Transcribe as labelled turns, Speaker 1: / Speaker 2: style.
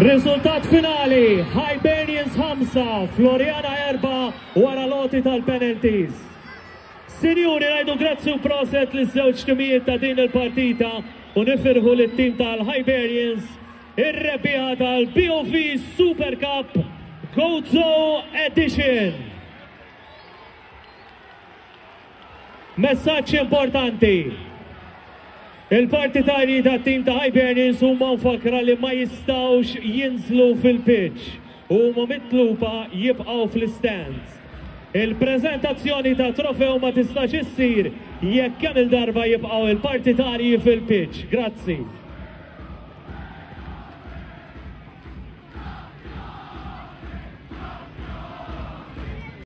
Speaker 1: Riżultat finali, Hibernians 5, Floriana 4 wara l-għoti tal-penalties. Sinjuri, ngħidu grazzi u proset liż-żewġ timijiet ta' din il-partita u nifirħu lit-tim tal-Hibernians ir-rebbieħa tal-BOV Super Cup Gozo Edition. Messaġġ importanti. Il-partitarji tat-tim ta' Hibernians huma mfakkra li ma jistgħux jinżlu fil-pitch u huma mitluba jibqgħu fl-istands. Il-preżentazzjoni tat-trofew ma tistax issir jekk kemm-il darba jibqgħu il-partitarji fil-pitch. Grazzi.